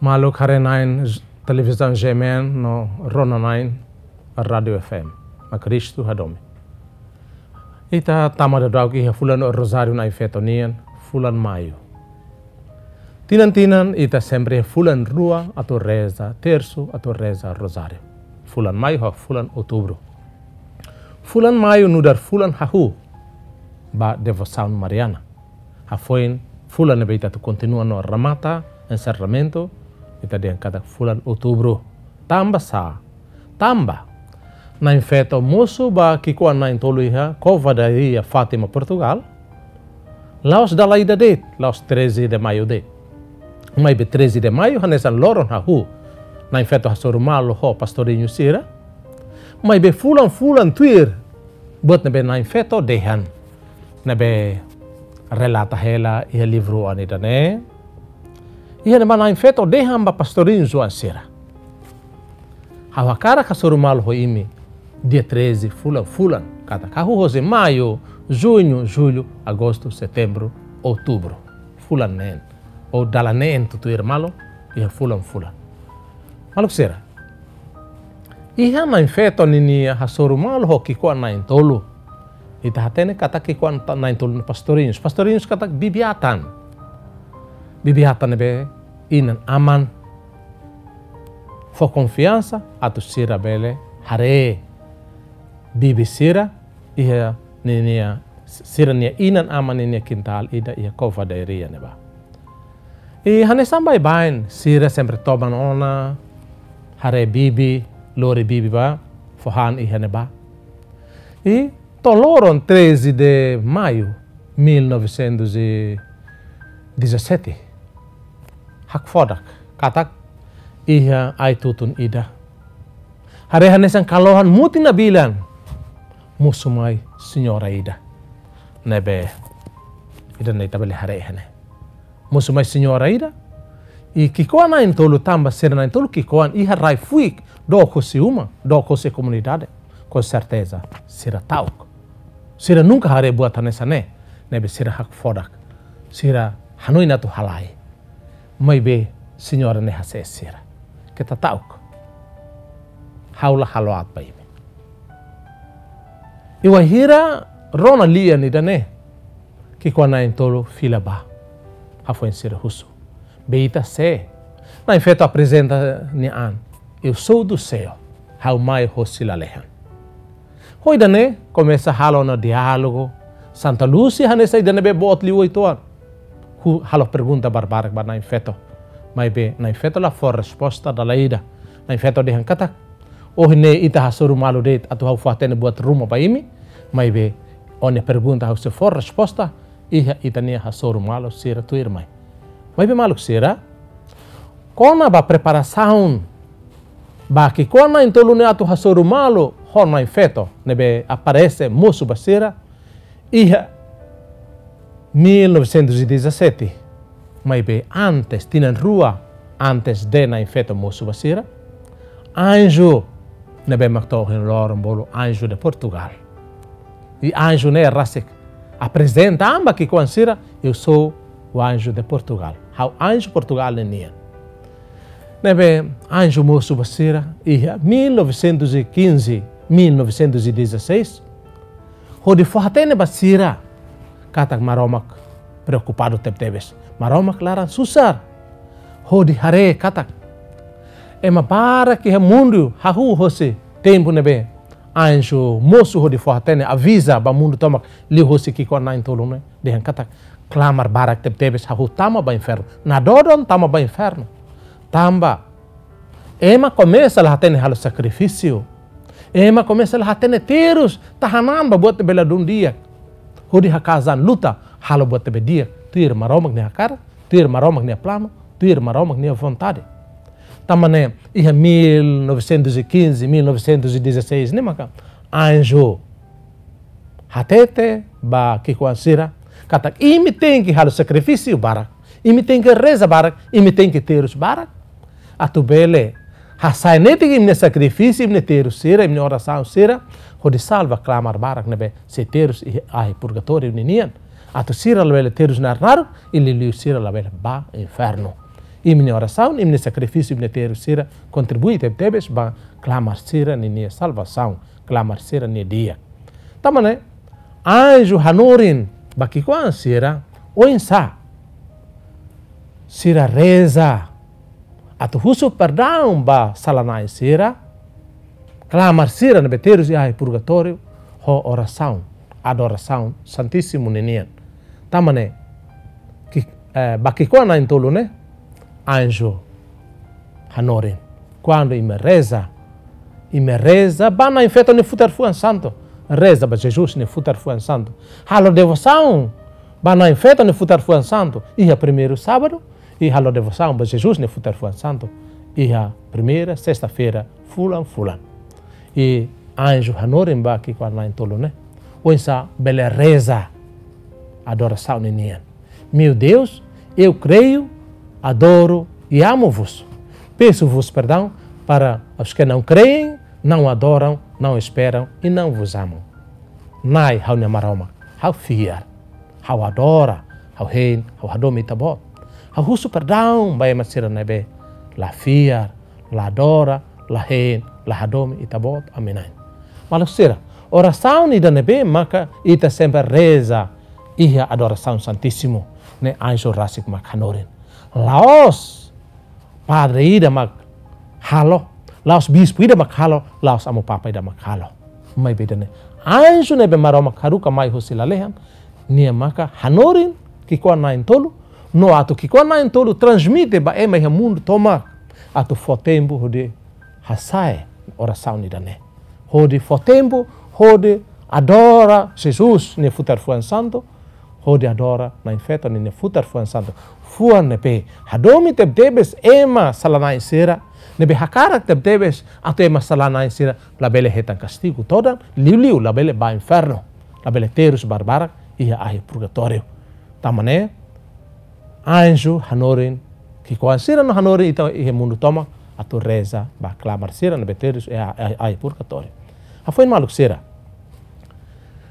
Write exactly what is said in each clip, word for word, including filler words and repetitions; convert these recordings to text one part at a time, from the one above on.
Maluk haree-na'in j-, televizaun G M N no rona-na'in Rádiu F M. Mak Kristu hadomi. Ita tama daudauk iha fulan Rozáriu Na'in-Feto nian, fulan Maiu. Tinan-tinan ita sempre fulan rua atu reza tersu, atu reza Rozáriu. Fulan Maiu ho fulan Outubru. Fulan Maiu nu'udar fulan hahú ba devosaun mariana. Hafoin fulan ne'ebé ita atu kontinua no remata enserramentu, ita dehan katak fulan Outubru. Tanba sá? Tanba Na'in-Feto mosu ba ki'ikoan na'in-tolu iha Cova da Iria, Fátima, Portugal, la'ós dala ida de'it, la'ós treze de Maio de'it. Maibé treze de Maio hanesan loron hahú Na'in-Feto hasoru malu ho pastorinhu sira. Maibé fulan-fulan tuir, buat ne'ebé Na'in-Feto dehan, ne'ebé relata hela iha livru oan ida-ne'e. Iha ne'ebá Na'in-Feto dehan ba pastorinhu oan sira: Ha'u hakarak hasoru malu ho imi dia treze fulan-fulan. Katak hahú hosi Maiu, Juñu, Jullu, Agostu, Setembru, Outubru. Fulan neen. Ou dala neen tutuir malu iha fulan-fulan. Maluk sira, iha Na'in-Feto ninia hasoru malu ho ki'ikoan na'in-tolu, ita hatene katak ki'ikoan ta-, na'in-tolu ne'e pastorinhu. Pastorinhu katak bibi-atan. Bibi-atan ne'ebé inan-aman fó konfiansa atu sira bele haree bibi sira iha ninia, sira-nia inan-aman ninia kintál ida iha Cova da Iria ne'ebá. I hanesan baibain, sira sempre toman ona, haree bibi, lori bibi ba fó han iha ne'ebá. I to'o loron treze de Maio mil novecentos e dezassete, hakfodak katak iha ai-tutun ida, haree hanesan kalohan mutin nabilan, mosu mai señora ida. Ne'ebé ida-ne'e ita bele haree iha ne'e. Mosu mai señora ida, i ki'ikoan na'in-tolu, tanba sira na'in-tolu ki'ikoan, iha rai-fuik, dook husi uma, dook husi komunidade. Com certeza sira ta'uk. Sira nunka haree buat hanesan ne'e. Ne'ebé sira hakfodak. Sira hanoin atu halai. Maibé señora ne'e hasees sira: Keta ta'uk. Ha'u la halo aat ba imi. I wainhira rona lian ida-ne'e, ki'ikoan na'in-tolu fila bá. Hafoin sira husu: Be ita sé? Na'in-Feto aprezenta nia an: Eu sou do céu. Ha'u mai hosi lalehan. Ho ida-ne'e komesa halo ona diálogu. Santa Lúcia hanesan ida ne'ebé boot liu uitoan, halo pergunta barbarak ba Na'in-Feto. Maibé Na'in-Feto la fó resposta dala ida. Na'in-Feto dehan katak: Ohin ne'e ita hasoru malu de'it atu ha'u fó-hatene buat ruma ba imi. Maibé ó-nia pergunta ha'u sei fó resposta iha ita-nia hasoru malu sira tuirmai. Maibé maluk sira, kona-ba preparasaun ba ki'ikoan na'in-tolu ne'e atu hasoru malu ho Na'in-Feto ne'ebé aparese mosu ba sira iha mil novecentos e dezassete. Maibé antes, tinan rua antes de Na'in-Feto mosu ba sira, anju ne'ebé mak to'o ohin loron bolu Anjo de Portugal. I anju ne'e rasik aprezenta an ba ki'ikoan sira: Eu sou o anjo de Portugal. Ha'u anju Portugal ninian. Ne'ebé anju mosu ba sira iha mil novecentos e quinze, mil novecentos e dezasseis, hodi fó-hatene ba sira katak Maromak preokupadu tebetebes. Maromak laran susar hodi haree katak ema barak iha mundu hahú hosi tempu ne'ebé anju mosu hodi fó-hatene, aviza ba mundu tomak liuhosi ki'ikoan na'in-tolu ne'e, dehan katak klamar barak tebetebes hahú tama ba infernu. Nadodon tama ba infernu. Tanba ema komesa la hatene halo sakrifísiu. Ema komesa la hatene terus tahan an ba buat ne'ebé ladún di'ak, hodi haka'as an luta halo buat ne'ebé di'ak tuir Maromak nia hakarak, tuir Maromak nia planu, tuir Maromak nia vontade. Tanba ne'e iha mil novecentos e quinze, mil novecentos e dezasseis ne'e maka anju hatete ba ki'ikoan sira katak imi tenke halo sakrifísiu barak, imi tenke reza barak, imi tenke terus barak, atu bele hasai netik imi-nia sakrifísiu, imi-nia terus sira, imi-nia orasaun sira, hodi salva klamar barak ne'ebé sei terus iha ahi purgatóriu ninian, atu sira labele terus naruk-naruk, i liuliu sira labele ba infernu. Imi-nia orasaun, imi-nia sakrifísiu, imi-nia terus sira kontribui tebetebes ba klamar sira ninia salvasaun, klamar sira-nia di'ak. Tanba ne'e, anju hanorin ba ki'ikoan sira, oinsá sira reza atu husu perdaun ba sala-na'in sira, klamar sira ne'ebé terus iha ahi purgatóriu, ho orasaun, adorasaun Santísimu ninian. Tanba ne'e, ki-, eh, ba ki'ikoan na'in-tolu ne'e, anju hanorin. Kuandu imi reza, imi reza ba Na'in-Feto nia futar fuan santu. Reza ba Jesus nia futar fuan santu. Halo devosaun ba Na'in-Feto nia futar fuan santu iha primeiru sábadu, i halo devosaun ba Jesus nia futar fuan santu iha primeira sesta-feira fulan-fulan. I anju hanorin ba ki'ikoan na'in-tolu ne'e, oinsá bele reza adorasaun ninian. Meu Deus, eu creio, adoro e amo-vos. Peço-vos perdão para os que não creem, não adoram, não esperam e não vos amam. Na'i, ha'u-nia Maromak, ha'u fiar, ha'u adora, ha'u hein, ha'u hadomi Ita-Boot. Ha'u husu perdaun ba ema sira ne'ebé la fiar, la adora, la hein, la hadomi Ita-Boot ami-na'in. Maluk sira, orasaun ida ne'ebé maka ita sempre reza iha adorasaun Santísimu ne'e anju rasik mak hanorin. La'ós padre ida mak halo, la'ós bispu ida mak halo, la'ós amu-papa ida mak halo. Maibé ida-ne'e anju ne'ebé Maromak haruka mai husi lalehan, nia maka hanorin ki'ikoan na'in-tolu, no atu ki'ikoan na'in-tolu transmite ba ema iha mundu tomak, atu fó tempu hodi hasa'e orasaun ida-ne'e. Hodi fó tempu hodi adora Jesus nia futar fuan santu, hodi adora Na'in-Feto ninia futar fuan santu. Fuan ne'ebé hadomi tebetebes ema sala-na'in sira, ne'ebé hakarak tebetebes atu ema sala-na'in sira labele hetan kastigu todan, liuliu labele bá infernu, labele terus barbarak iha ahi purgatóriu. Tanba ne'e, anju hanorin ki'ikoan sira no hanorin ita iha mundu tomak atu reza ba klamar sira ne'ebé terus iha, iha ahi purgatóriu. Hafoin maluk sira,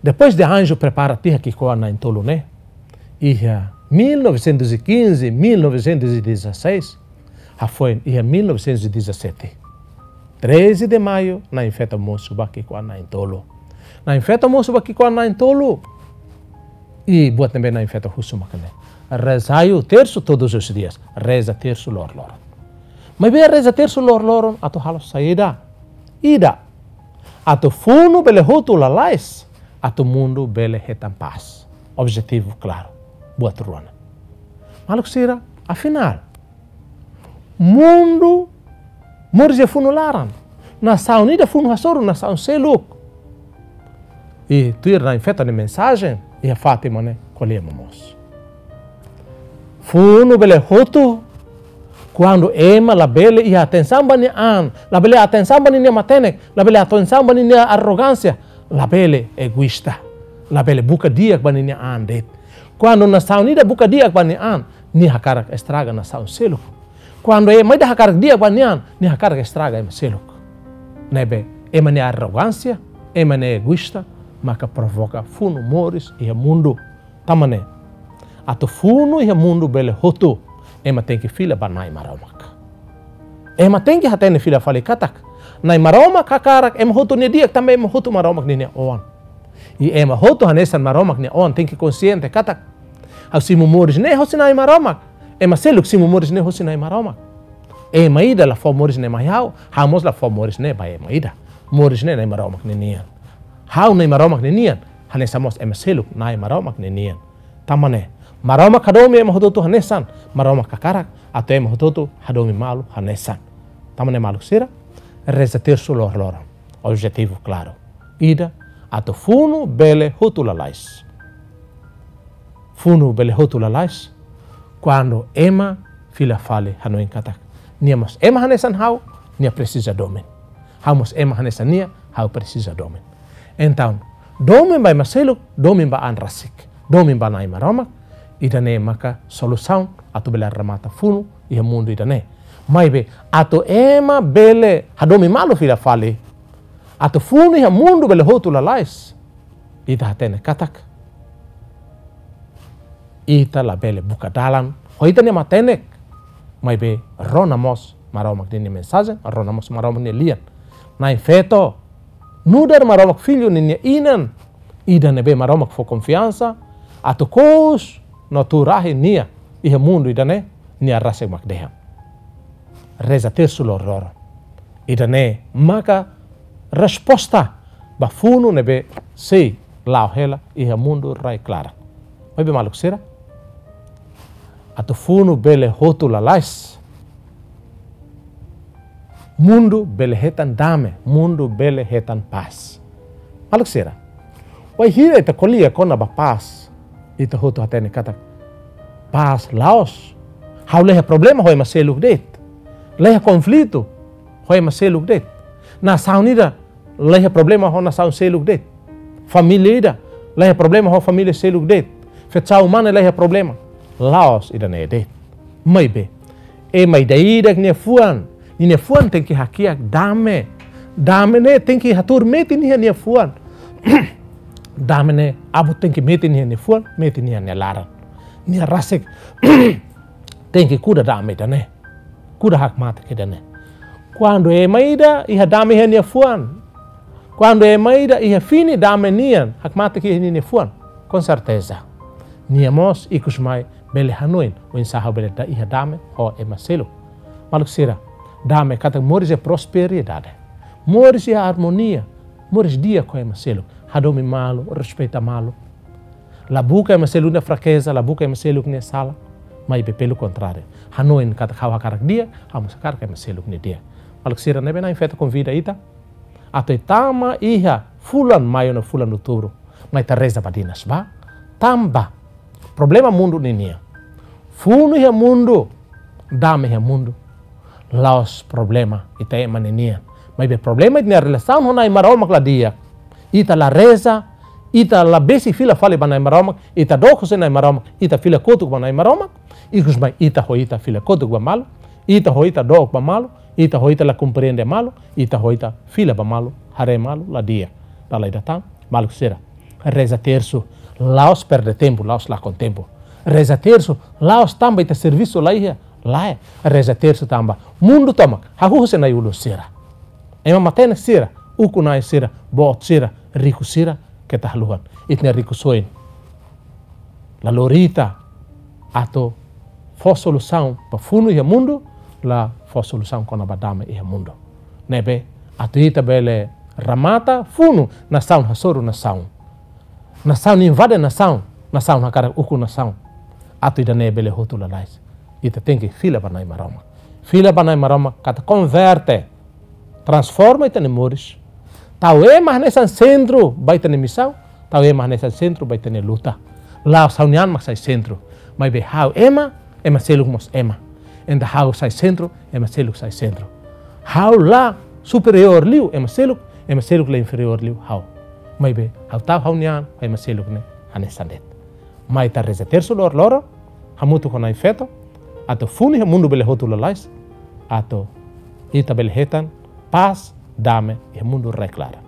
depois de anju prepara tiha ki'ikoan na'in-tolu ne'e, iha mil novecentos e quinze, mil novecentos e dezasseis, hafoin iha mil novecentos e dezassete, treze de maio, Na'in-Feto mosu ba ki'ikoan na'in-tolu. Na'in-Feto mosu ba ki'ikoan na'in-tolu. I buat ne'ebé Na'in-Feto husu mak ne'e: rezai o terço todos os dias. Reza tersu loroloron. Maibé reza tersu loroloron atu halo saida? Ida, atu funu bele hotu lalais, atu mundu bele hetan pás. Objetivu klaru. Buat rua ne'e. Maluk sira, afinál, mundu moris iha funu laran. Nasaun ida funu hasoru nasaun seluk. I tuir Na'in-Feto nia mensajen iha Fátima ne'e ko'alia momoos. Funu bele hotu kuandu ema labele iha atensaun ba nia an, labele atensaun ba ninia matenek, labele atensaun ba ninia arrogánsia, labele egoísta, labele buka di'ak ba ninia an de'it. Kuandu nasaun ida buka di'ak ba nia an, nia hakarak estraga nasaun seluk. Kuandu ema ida hakarak di'ak ba nia an, nia hakarak estraga ema seluk. Ne'ebé ema nia arrogánsia, ema nia egoísta, maka provoka funu moris iha mundu. Tanba ne'e, atu funu iha mundu bele hotu, ema tenke fila ba Na'i Maromak. Ema tenke hatene fila fali katak Na'i Maromak hakarak ema hotu nia di'ak, tanba ema hotu Maromak ninia oan. I ema hotu hanesan Maromak nia oan tenke konxiente katak: ha'u simu moris ne'e hosi Na'i Maromak. Ema seluk simu moris ne'e hosi Na'i Maromak. Ema ida la fó moris ne'e mai ha'u, ha'u mós la fó moris ne'e ba ema ida. Moris ne'e Na'i Maromak ninian. Ha'u Na'i Maromak ninian, hanesan mós ema seluk Na'i Maromak ninian. Tanba ne'e, Maromak hadomi ema hotu-hotu hanesan, Maromak hakarak atu ema hotu-hotu hadomi malu hanesan. Tanba ne'e maluk sira, reza tersu loroloron. Objetivu klaru. Ida, atu funu bele hotu lalais. Funu bele hotu lalais, kuandu ema fila fali hanoin katak: nia mós ema hanesan ha'u, nia presiza domin. Ha'u mós ema hanesan nia, ha'u presiza domin. Entaun, domin ba ema seluk, domin ba an rasik, domin ba Na'i Maromak, ida-ne'e maka solusaun atu bele remata funu iha mundu ida-ne'e. Maibé, atu ema bele hadomi malu fila fali, atu funu iha mundu bele hotu lalais, ita hatene katak ita labele buka dalan ho ita-nia matenek, Maibé rona mós Maromak ninia mensajen, rona mós Maromak nia lian. Na'in-feto, nu'udar Maromak Filho ninia inan, ida ne'ebé Maromak fó konfiansa atu kous no tuur rahi nia iha mundu ida-ne'e, nia rasik mak dehan: Reza tersu loroloron. Ida-ne'e maka resposta ba funu ne'ebé sei la'o hela iha mundu rai-klaran. Maibé maluk sira, atu funu bele hotu lalais, mundu bele hetan dame, mundu bele hetan pás. Maluk sira, wainhira ita ko'alia kona-ba pás, ita hotu hatene katak pás la'ós ha'u la iha problema ho ema seluk de'it, la iha konflitu ho ema seluk de'it. Nasaun ida la iha problema ho nasaun seluk de'it. Família ida la iha problema ho família seluk de'it. Fetsa'u mane la iha problema. La'ós ida-ne'e de'it. Maibé ema ida-idak nia fuan, ninia fuan tenke hakiak dame. Dame ne'e tenke hatuur metin iha nia fuan. Dame ne'e abut tenke metin iha nia fuan, metin iha nia laran. Nia rasik tenke kuda dame ida-ne'e, kuda hakmatek ida-ne'e. Kuandu ema ida iha dame iha nia fuan, kuandu ema ida iha fini dame nian hakmatek iha ninia fuan, konserteza nia mós ikus mai bele hanoin oinsá ha'u bele da-, iha dame ho ema seluk. Maluk sira, dame katak moris iha prosperidade, moris iha armonia, moris di'ak ho ema seluk, hadomi malu, respeita malu. La buka ema seluk nia frakeza, la buka ema seluk nia sala. Maibé pelu kontráriu, hanoin katak ha'u hakarak di'ak, ha'u mós hakarak ema seluk nia di'ak. Maluk sira, ne'ebé na'in-feto konvida ita atu ita tama iha fulan Maiu no fulan Outubru, mai ita reza badinas ba, tanba problema mundu ninian, funu iha mundu, dame iha mundu, la'ós problema ita ema ninian. Maibé problema ita-nia relasaun ho Na'i Maromak la di'ak. Ita la reza, ita la besik fila fali ba Na'i Maromak, ita dook husi Na'i Maromak, ita fila kotuk ba Na'i Maromak, ikus mai ita ho ita fila kotuk ba malu, ita ho ita dook ba malu, ita ho ita la komprende malu, ita ho ita fila ba malu, haree malu la di'ak. Dala ida tan, maluk sira, reza tersu la'ós perde tempu, la'ós lakon tempu. Reza tersu la'ós tanba ita servisu la iha, lae. Reza tersu tanba mundu tomak hahú husi na'i-ulun sira, ema matenek sira, ukun-na'in sira, boot sira, riku sira, keta haluha. Ita-nia rikusoin la lori ita atu fó solusaun ba funu iha mundu, la fó solusaun kona-ba dame iha mundu. Ne'ebé atu ita bele remata funu, nasaun hasoru nasaun, nasaun invade nasaun, nasaun hakarak ukun nasaun. Atu ida-ne'e bele hotu lalais, ita tenke fila ba Na'i Maromak. Fila ba Na'i Maromak katak konverte, transforma ita-nia moris. Tau ema hanesan sentru ba ita-nia misaun, tau ema hanesan sentru ba ita-nia luta. La'ós ha'u-nian mak sai sentru, maibé ha'u ema, ema seluk mós ema. Entaun ha'u sai sentru, ema seluk sai sentru. Ha'u la superiór liu ema seluk, ema seluk la inferiór liu ha'u. Maibé ha'u tau ha'u-nian ho ema seluk ne'e hanesan de'it. Mai ita reza tersu loroloron hamutuk ho na'in-feto, atu funu iha mundu bele hotu lalais, atu ita bele hetan pás, dame iha mundu rai-klaran.